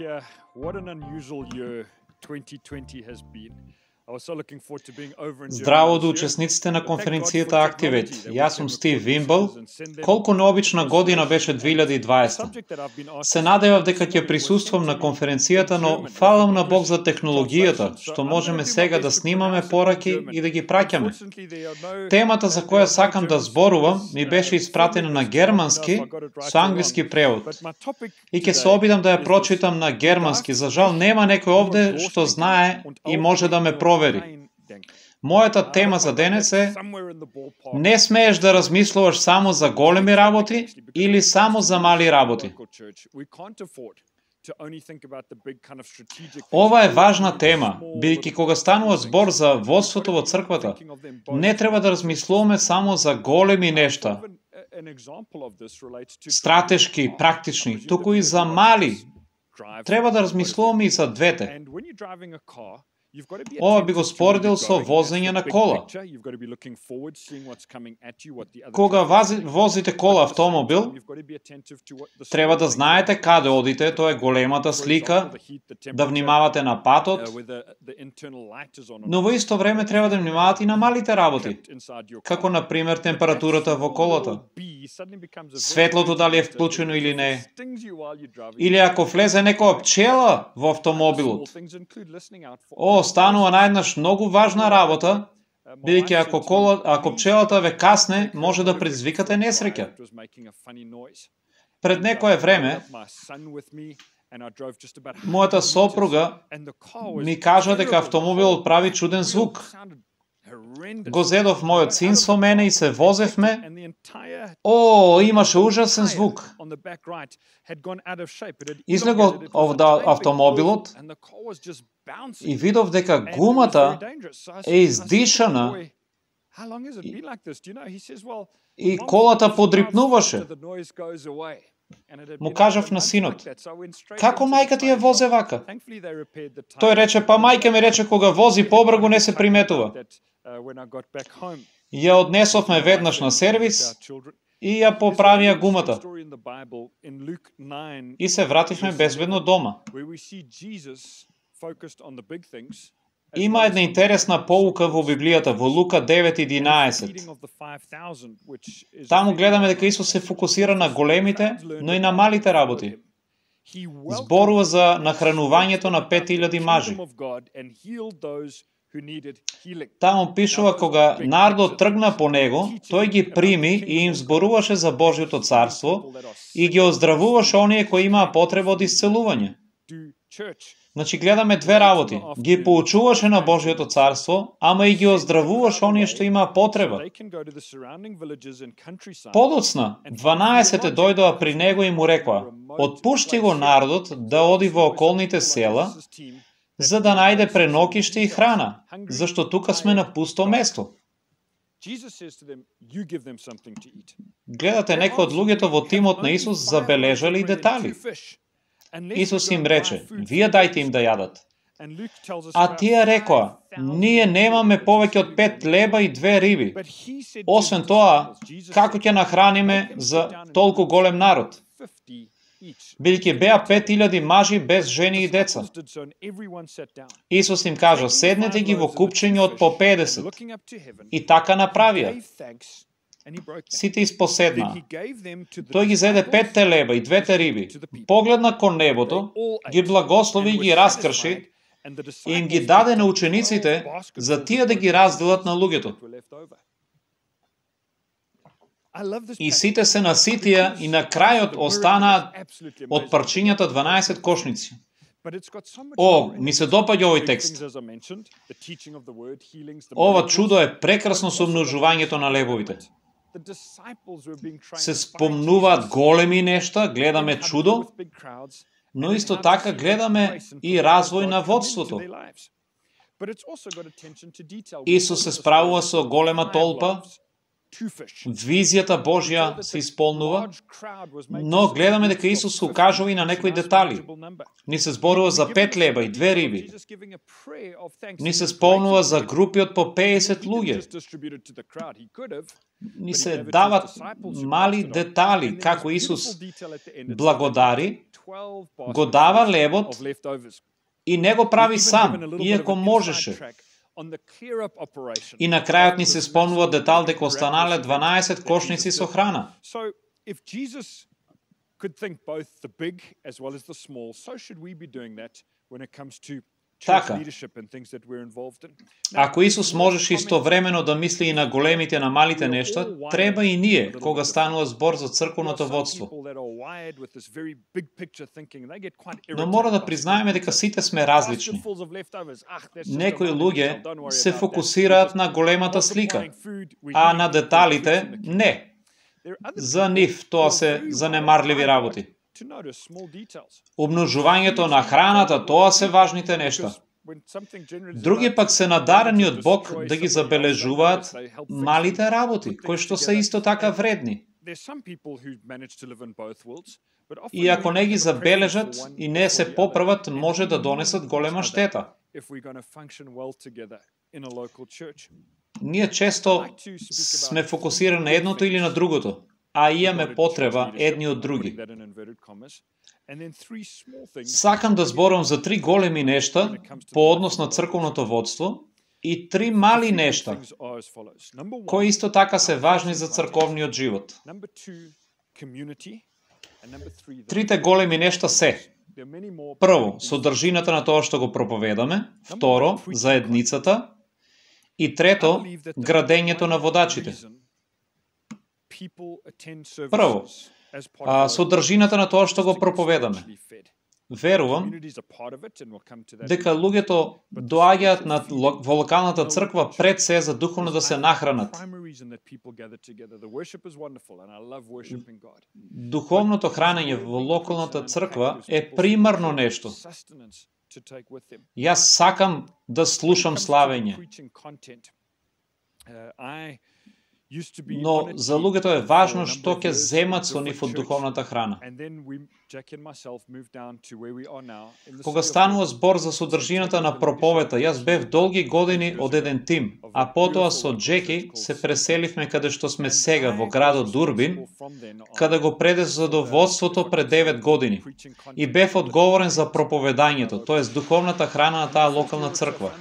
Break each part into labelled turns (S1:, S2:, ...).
S1: here. What an unusual year 2020 has been. I was so looking forward to being over in
S2: Здраво до учесниците на конференцијата Activate. Јас сум Стив Вимбл. Колку необична година беше 2020. Се надевав дека ќе присуствам на конференцијата, но фалам на Бог за технологијата, што можеме сега да снимаме пораки и да ги праќаме. Темата за која сакам да зборувам ми беше испратена на германски со англиски превод. И ќе се обидам да ја прочитам на германски. За жал нема некој овде што знае и може да ме провери. Мојата тема за денес е: не смееш да размислуваш само за големи работи или само за мали работи. Ова е важна тема, бидејќи кога станува збор за водството во црквата, не треба да размислуваме само за големи нешта, стратешки, практични, туку и за мали. Треба да размислуваме и за двете. Ова би го споредил со возење на кола. Кога возите кола автомобил, треба да знаете каде одите, тоа е големата слика, да внимавате на патот, но во исто време треба да внимавате и на малите работи, како например температурата во колата, светлото дали е вклучено или не, или ако влезе некоја пчела во автомобилот. Станува наеднаш многу важна работа, бидејќи ако пчелата ве касне, може да предизвикате несреќа. Пред некое време, мојата сопруга ми кажа дека автомобилот прави чуден звук. Го зедов мојот син со мене и се возевме. Имаше ужасен звук. Излегов од автомобилот и видов дека гумата е издишана и колата подрипнуваше. Му кажав на синот: како мајка ти ја возе вака? Тој рече: па мајка ми рече кога вози побрзо не се приметува. Ја однесовме веднаш на сервис и ја поправија гумата. И се вративме безбедно дома. Има една интересна поука во Библијата, во Лука 9:11. Таму гледаме дека Исус се фокусира на големите, но и на малите работи. Зборува за нахранувањето на 5000 мажи. Таму пишува кога народот тргна по него, тој ги прими и им зборуваше за Божјото царство и ги оздравуваше оние кои имаа потреба од исцелување. Значи гледаме две работи. Ги поучуваше на Божјото царство, ама и ги оздравуваше оние што имаа потреба. Подоцна, 12 дојдоа при него и му рекоа: отпушти го народот да оди во околните села, за да најде пренокиште и храна, зашто тука сме на пусто место. Гледате, некои од луѓето во тимот на Исус забележали детали. Исус им рече: вие дајте им да јадат. А тие рекоа: ние немаме повеќе од 5 леба и 2 риби. Освен тоа, како ќе нахраниме за толку голем народ? Бидејќи беа 5000 мажи без жени и деца. Исус им кажа: седнете ги во купчиња од по 50. И така направија. Сите испоседнаа. Тој ги зеде 5 леба и 2 риби, погледна кон небото, ги благослови и ги раскрши и им ги даде на учениците за тие да ги разделат на луѓето. И сите се наситија и на крајот останаат од парчињата 12 кошници. Ми се допаѓа овој текст. Ова чудо е прекрасно со множувањето на лебовите. Се спомнуваат големи нешта, гледаме чудо, но исто така гледаме и развој на водството. Исус се справува со голема толпа, визијата Божја се исполнува, но гледаме дека Исус се укажува и на некои детали. Ни се зборува за 5 леба и 2 риби. Ни се спомнува за групи од по 50 луѓе. Ни се дават мали детали како Исус благодари го дава лебот и не го прави сам, иако можеше. И на крајот ни се спомнува детал дека останале 12 кошници со храна. Така, ако Исус можеше истовремено да мисли и на големите и на малите нешта, треба и ние, кога станува збор за црковното водство. Но мора да признаеме дека сите сме различни. Некои луѓе се фокусираат на големата слика, а на деталите не. За нив тоа се занемарливи работи. Обмножувањето на храната, тоа се важните нешта. Други пак се надарени од Бог да ги забележуваат малите работи, кои што се исто така вредни. И ако не ги забележат и не се поправат, може да донесат голема штета. Ние често сме фокусирани на едното или на другото, а имаме потреба едни од други. Сакам да зборам за 3 големи нешта по однос на црковното водство и 3 мали нешта, кои исто така се важни за црковниот живот. Трите големи нешта се: прво, содржината на тоа што го проповедаме; второ, заедницата; и трето, градењето на водачите. Прво, содржината на тоа што го проповедаме. Верувам дека луѓето доаѓаат во локалната црква пред се за духовно да се нахранат. Духовното хранење во локалната црква е примарно нешто. Јас сакам да слушам славење. Но за луѓето е важно што ќе земат со нив од духовната храна. Кога станува збор за содржината на проповета, јас бев долги години од еден тим, а потоа со Джеки се преселивме каде што сме сега, во градот Дурбин, каде го преде задоволството пред 9 години. И бев одговорен за проповедањето, тоест духовната храна на таа локална црква.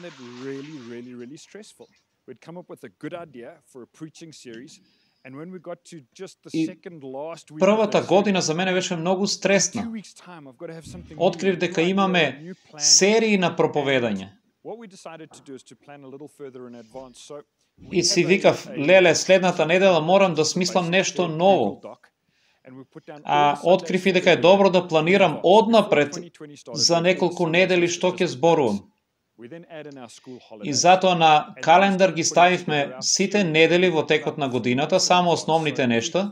S2: We'd come up with a good idea for a preaching series, and when we got to just the second last week. Првата година за мене беше многу стресна. Открив дека имаме серии на проповедање. И си викав, леле, следната недела морам да смислам нешто ново. А открив и дека е добро да планирам однапред за неколку недели што ќе зборувам. И затоа на календар ги ставивме сите недели во текот на годината, само основните нешта.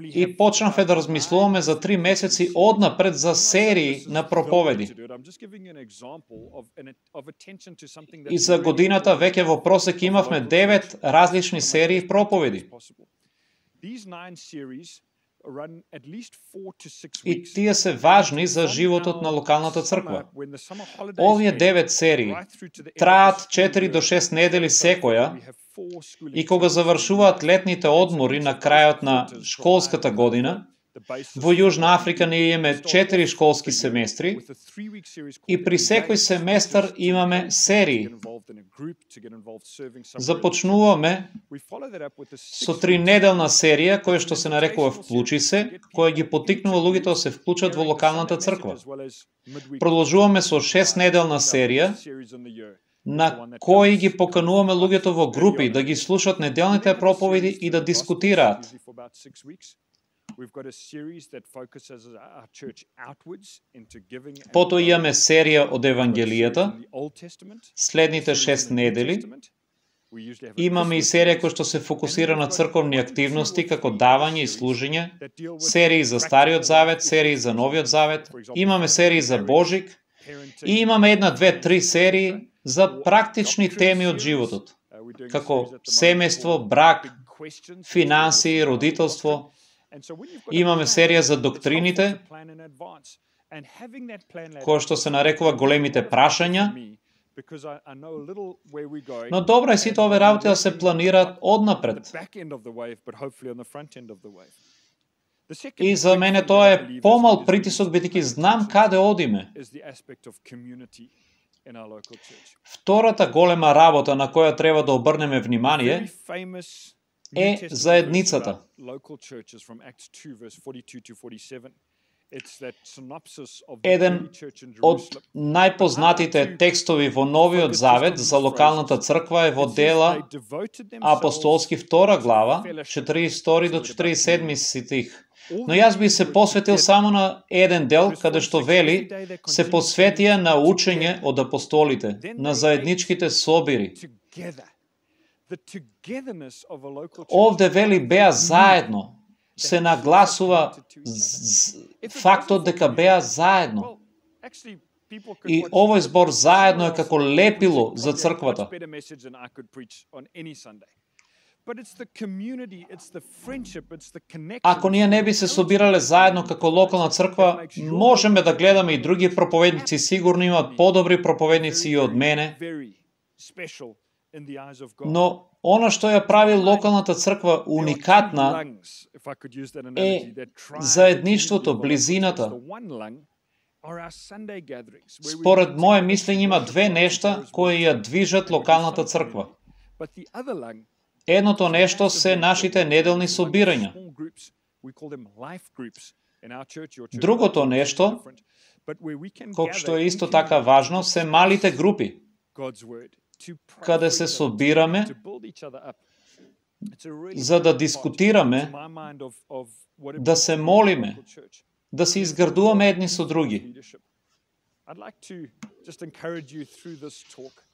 S2: И почнавме да размислуваме за 3 месеци однапред за серии на проповеди. И за годината веќе во просек имавме 9 различни серии проповеди. И тие се важни за животот на локалната црква. Овие 9 серии траат 4 до 6 недели секоја и кога завршуваат летните одмори на крајот на школската година, во Јужна Африка ние имаме 4 школски семестри и при секој семестар имаме серии. Започнуваме со 3-неделна серија која што се нарекува Вклучи се, која ги поттикнува луѓето да се вклучат во локалната црква. Продолжуваме со 6-неделна серија на кои ги покануваме луѓето во групи да ги слушат неделните проповеди и да дискутираат. Потоа имаме серија од Евангелијата, следните 6 недели. Имаме и серија која што се фокусира на црковни активности, како давање и служење, серии за Стариот Завет, серии за Новиот Завет, имаме серии за Божик и имаме 1, 2, 3 серии за практични теми од животот, како семејство, брак, финанси, родителство. Имаме серија за доктрините, која што се нарекува големите прашања, Но добро е сите овие работи да се планираат однапред. И за мене тоа е помал притисок, бидејќи знам каде одиме. Втората голема работа на која треба да обрнеме внимание е заедницата. Еден од најпознатите текстови во Новиот Завет за локалната црква е во Дела апостолски 2 глава, 42 до 47 стих. Но јас би се посветил само на еден дел, каде што вели, се посветија на учење од апостолите, на заедничките собири. Овде вели беа заедно, се нагласува фактот дека беа заедно. И овој збор заедно е како лепило за црквата. Ако ние не би се собирале заедно како локална црква, можеме да гледаме и други проповедници, сигурно имаат подобри проповедници и од мене. Но она што ја прави локалната црква уникатна е заедништвото, близината. Според моје мислење има две нешта кои ја движат локалната црква. Едното нешто се нашите неделни собирања. Другото нешто, колку што е исто така важно, се малите групи, каде се собираме за да дискутираме, да се молиме, да се изградуваме едни со други.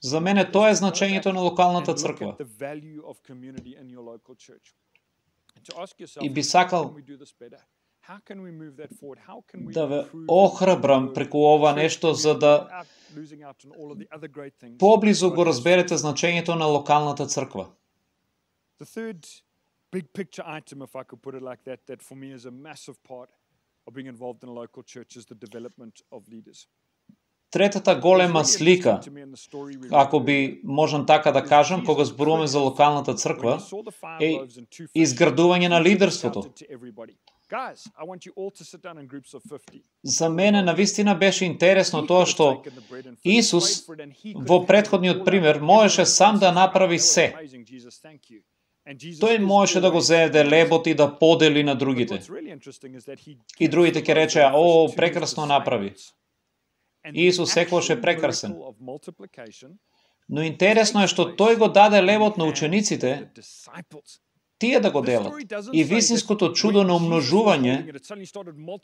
S2: За мене тоа е значењето на локалната црква. И би сакал да ве охрабрам преку ова нешто, за да поблизу го разберете значењето на локалната црква. Третата голема слика, ако би можам така да кажам, кога зборуваме за локалната црква, е изградување на лидерството. За мене навистина беше интересно тоа што Исус во претходниот пример можеше сам да направи се. Тој можеше да го зеде лебот и да подели на другите. И другите ќе речеа, о, прекрасно направи. Исус секогаш е прекрасен. Но интересно е што тој го даде лебот на учениците, тие да го делат. И вистинското чудо на умножување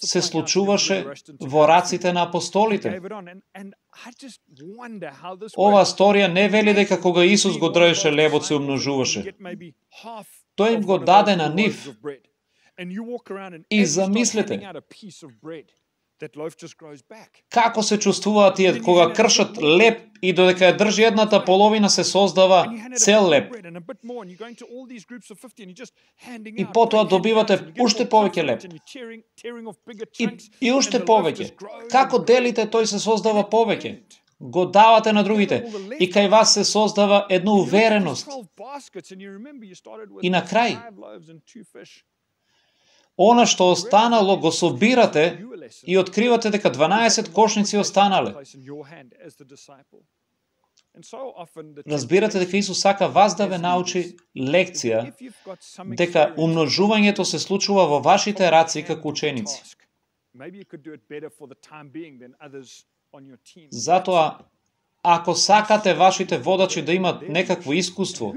S2: се случуваше во раците на апостолите. Ова сторија не вели дека кога Исус го држеше лебот се умножуваше. Тој им го даде на нив. И замислете, како се чувствуваат тие кога кршат леб и додека ја држи едната половина се создава цел леб. И потоа добивате уште повеќе леб. И уште повеќе. Како делите, тој се создава повеќе. Го давате на другите. И кај вас се создава една увереност. И на крај, она што останало го собирате и откривате дека 12 кошници останале. Разбирате дека Исус сака вас да ве научи лекција, дека умножувањето се случува во вашите раци како ученици. Затоа, ако сакате вашите водачи да имат некакво искуство,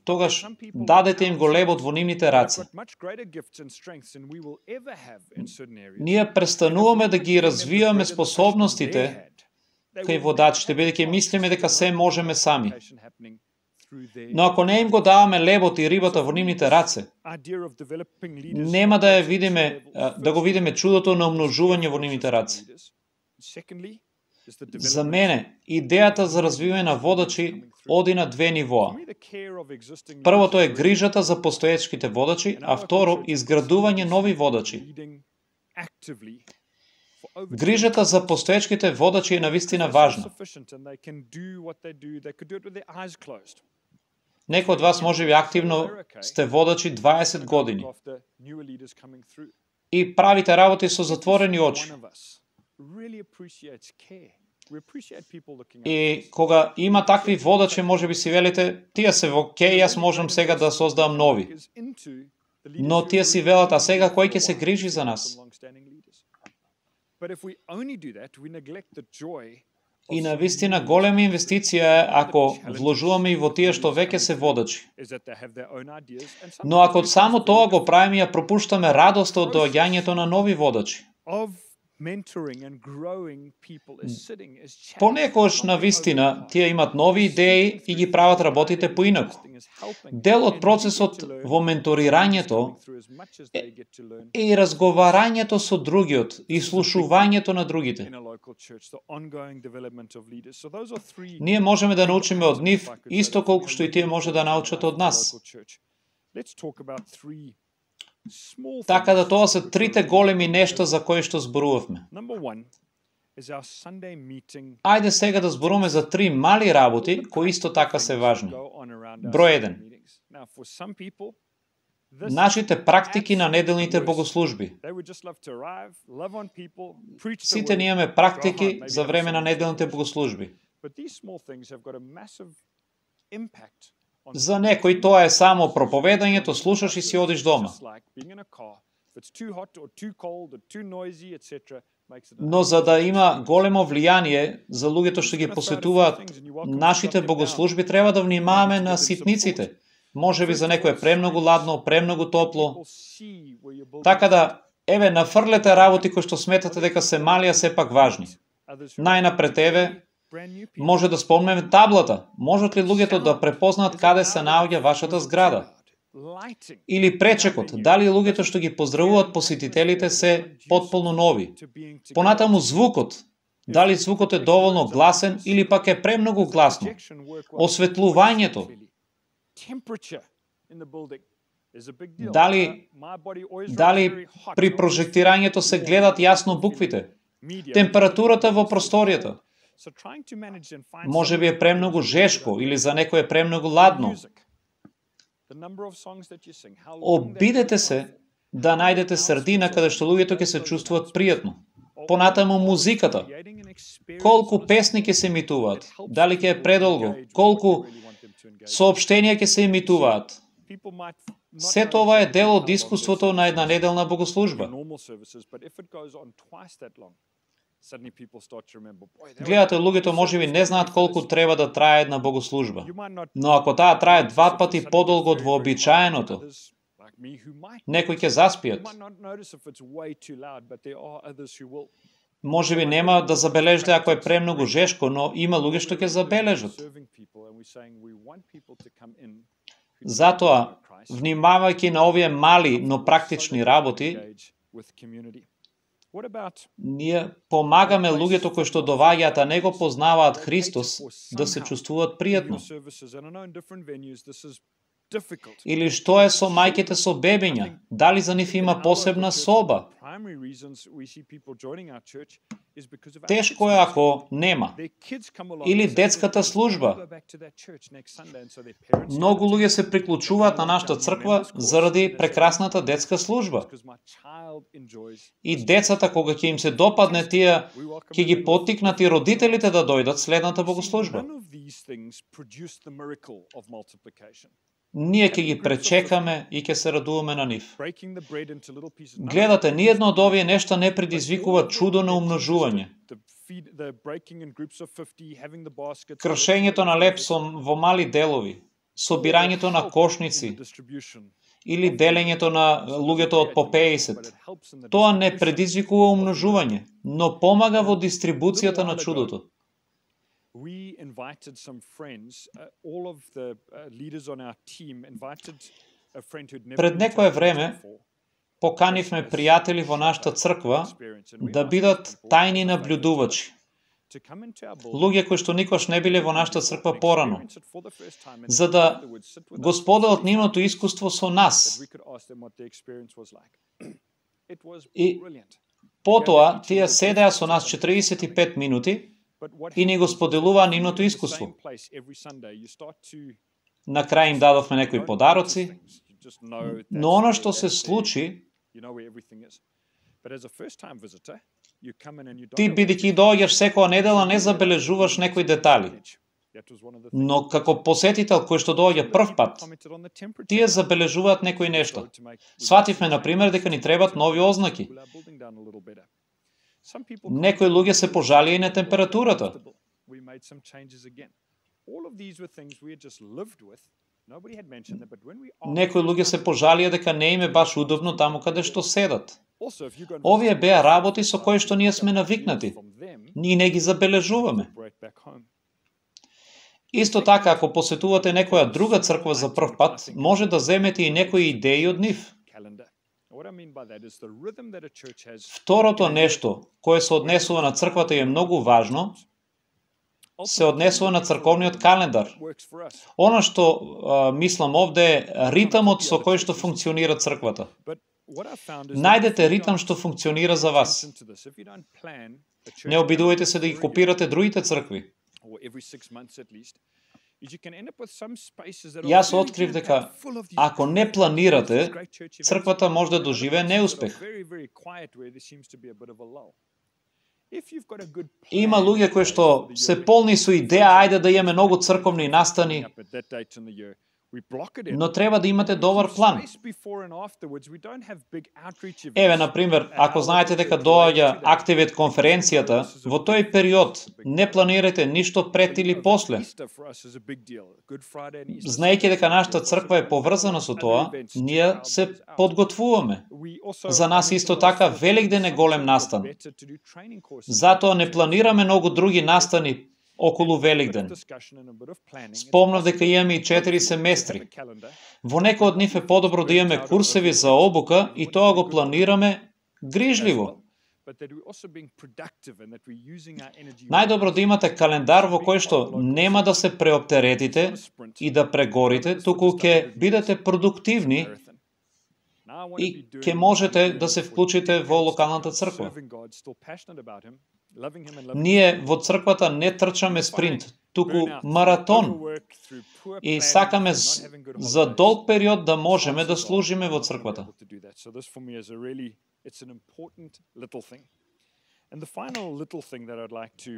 S2: тогаш дадете им го лебот во нивните раци. Ние престануваме да ги развиваме способностите кај водачите, бидејќи мислиме дека се можеме сами. Но ако не им го даваме лебот и рибата во нивните раце, нема да го видиме чудото на умножување во нивните раце. За мене, идејата за развивање на водачи оди на две нивоа. Првото е грижата за постоечките водачи, а второ, изградување нови водачи. Грижата за постоечките водачи е навистина важна. Некои од вас можеби активно сте водачи 20 години и правите работи со затворени очи. И кога има такви водачи, можеби си велите, тие се окей, јас можам сега да создам нови. Но тие си велат, а сега кој ќе се грижи за нас? И навистина голема инвестиција е ако вложуваме и во тие што веќе се водачи. Но ако само тоа го правиме, ја пропуштаме радоста од доаѓањето на нови водачи. Понекогаш навистина тие имат нови идеи и ги прават работите поинаку. Дел од процесот во менторирањето е и разговарањето со другиот и слушувањето на другите. Ние можеме да научиме од нив исто колку што и тие може да научат од нас. Така да тоа се трите големи нешта за кои што зборувавме. Ајде сега да зборуваме за три мали работи кои исто така се важни. Број 1. Нашите практики на неделните богослужби. Сите ние имаме практики за време на неделните богослужби. За некој тоа е само проповедањето, слушаш и си одиш дома. Но за да има големо влијание за луѓето што ги посетуваат нашите богослужби, треба да внимаваме на ситниците. Можеби за некој е премногу ладно, премногу топло. Така да, еве, нафрлете работи кои што сметате дека се мали, а сепак важни. Најнапред, еве, може да спомнеме таблата. Можат ли луѓето да препознаат каде се наоѓа вашата зграда? Или пречекот, дали луѓето што ги поздравуваат посетителите се потполно нови? Понатаму звукот, дали звукот е доволно гласен или пак е премногу гласно? Осветлувањето. Дали при прожектирањето се гледат јасно буквите? Температурата во просторијата. Може би е премногу жешко или за некој е премногу ладно. Обидете се да најдете средина каде што луѓето ќе се чувствуваат пријатно. Понатаму музиката. Колку песни ќе се емитуваат? Дали ќе е предолго? Колку соопштенија ќе се емитуваат? Се тоа е дел од искуството на една неделна богослужба. Гледате, луѓето можеби не знаат колку треба да трае една богослужба. Но ако таа трае 2 пати подолго од вообичаеното, некои ќе заспијат. Можеби нема да забележите ако е премногу жешко, но има луѓе што ќе забележат. Затоа, внимавајќи на овие мали, но практични работи, ние помагаме луѓето кои што доваѓаат, а не го познаваат Христос, да се чувствуваат пријатно. Или што е со мајките со бебиња? Дали за нив има посебна соба? Тешко е ако нема. Или детската служба. Многу луѓе се приклучуваат на нашата црква заради прекрасната детска служба. И децата, кога ќе им се допадне, тие ќе ги поттикнат и родителите да дојдат следната богослужба. Ние ќе ги пречекаме и ќе се радуваме на нив. Гледате, ниедно од овие нешта не предизвикува чудо на умножување. Кршењето на леб во мали делови, собирањето на кошници или делењето на луѓето од по 50. Тоа не предизвикува умножување, но помага во дистрибуцијата на чудото.
S1: We invited some friends, all of the leaders on our team invited a friend who'd never
S2: Пред некое време поканивме пријатели во нашата црква да бидат тајни наблюдувачи. Луѓе кои што никош не биле во нашата црква порано, за да го споделат нивното искуство со нас. И Потоа, тие седеа со нас 45 минути и ни го споделуваа нивното искуство. На крај им дадовме некои подароци, но оно што се случи, ти бидејќи доаѓаш секоја недела не забележуваш некои детали. Но како посетител кој што доаѓа прв пат, тие забележуваат некои нешта. Свативме, например, дека ни требат нови ознаки. Некои луѓе се пожалија и на температурата. Некои луѓе се пожалија дека не им е баш удобно таму каде што седат. Овие беа работи со кои што ние сме навикнати. Ние не ги забележуваме. Исто така, ако посетувате некоја друга црква за прв пат, може да земете и некои идеи од нив. Второто нешто, кое се однесува на црквата и е многу важно, се однесува на црковниот календар. Оно што мислам овде е ритамот со кој што функционира црквата. Најдете ритам што функционира за вас. Не обидувајте се да ги копирате другите цркви. Јас открив дека ако не планирате, црквата може да доживее неуспех. Има луѓе кои што се полни со идеја ајде да имаме многу црковни настани, но треба да имате добар план. Еве, например, ако знаете дека доаѓа Activate конференцијата, во тој период не планирате ништо пред или после. Знаејќи дека нашата црква е поврзана со тоа, ние се подготвуваме. За нас исто така Великден е голем настан. Затоа не планираме многу други настани околу Великден. Спомнав дека имаме и 4 семестри. Во некој од нив е подобро да имаме курсеви за обука и тоа го планираме грижливо. Најдобро да имате календар во кој што нема да се преоптеретите и да прегорите, туку ќе бидете продуктивни и ќе можете да се вклучите во локалната црква. Ние во црквата не трчаме спринт, туку маратон. И сакаме за долг период да можеме да служиме во црквата.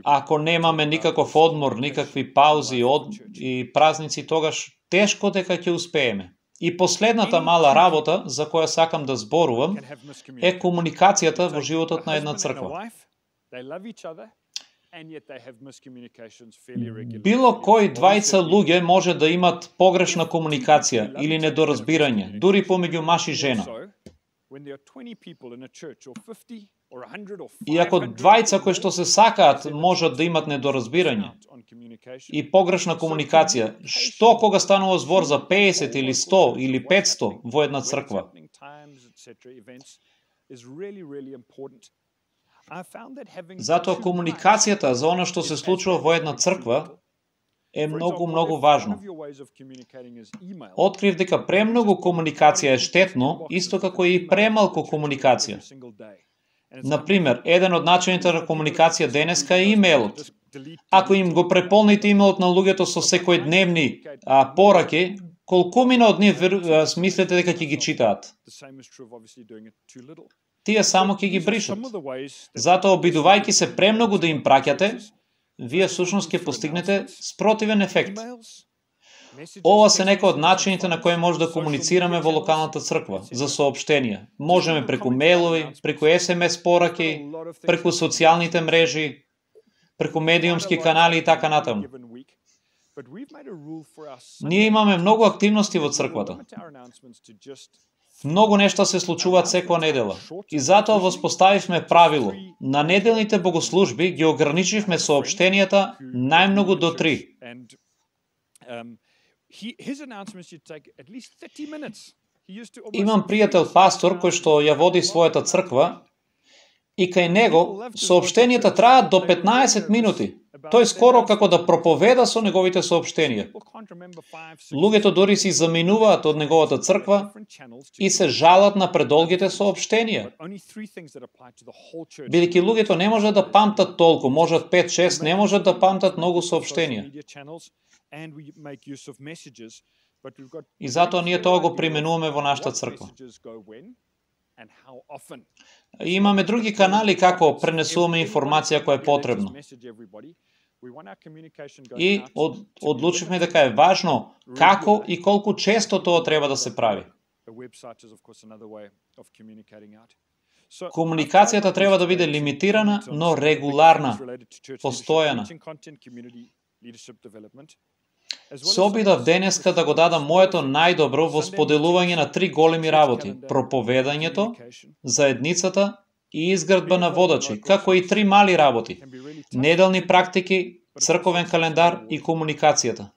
S2: Ако немаме никаков одмор, никакви паузи и празници, тогаш тешко дека ќе успееме. И последната мала работа за која сакам да зборувам е комуникацијата во животот на една црква. Било кој двајца луѓе може да имат погрешна комуникација или недоразбирање, дури помеѓу маж и жена. И ако двајца кои што се сакаат можат да имат недоразбирање и погрешна комуникација, што кога станува збор за 50 или 100 или 500 во една црква? Затоа комуникацијата за оно што се случува во една црква е многу важно. Открив дека премногу комуникација е штетно, исто како и премалку комуникација. Например, еден од начините на комуникација денеска е имејлот. Ако им го преполните имејлот на луѓето со секојдневни пораки, колкумина од нив смислите дека ќе ги читаат? Тие само ќе ги бришат. Затоа, обидувајќи се премногу да им праќате, вие всушност ќе постигнете спротивен ефект. Ова се некои од начините на кои може да комуницираме во локалната црква за соопштенија. Можеме преку мејлови, преку SMS пораки, преку социјалните мрежи, преку медиумски канали и така натаму. Ние имаме многу активности во црквата. Многу нешта се случуваат секоја недела. И затоа воспоставивме правило. На неделните богослужби ги ограничивме соопштенијата најмногу до 3. Имам пријател пастор кој што ја води својата црква и кај него соопштенијата траат до 15 минути. Тој скоро како да проповеда со неговите соопштенија. Луѓето дори си заминуваат од неговата црква и се жалат на предолгите соопштенија. Бидејќи луѓето не можат да памтат толку, можат 5-6, не можат да памтат многу соопштенија. И затоа ние тоа го применуваме во нашата црква. И имаме други канали како пренесуваме информација која е потребна. И одлучивме дека е важно како и колку често тоа треба да се прави. Комуникацијата треба да биде лимитирана, но регуларна, постојана. Се обидав денеска да го дадам моето најдобро во споделување на 3 големи работи: проповедањето, заедницата и изградба на водачи, како и 3 мали работи: неделни практики, црковен календар и комуникацијата.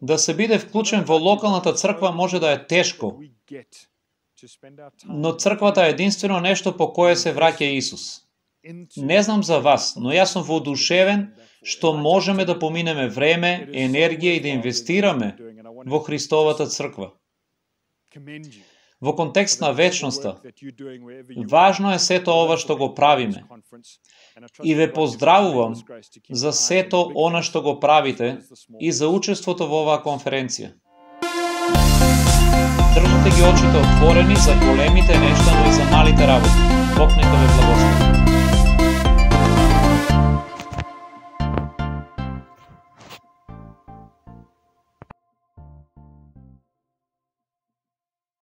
S2: Да се биде вклучен во локалната црква може да е тешко, но црквата е единствено нешто по кое се враќа Исус. Не знам за вас, но јас сум воодушевен што можеме да поминеме време, енергија и да инвестираме во Христовата црква. Во контекст на вечноста, важно е сето ова што го правиме. И ве поздравувам за сето она што го правите и за учеството во оваа конференција. Држате ги очите отворени за големите нешта, но и за малите работи. Бог нека ве благослови.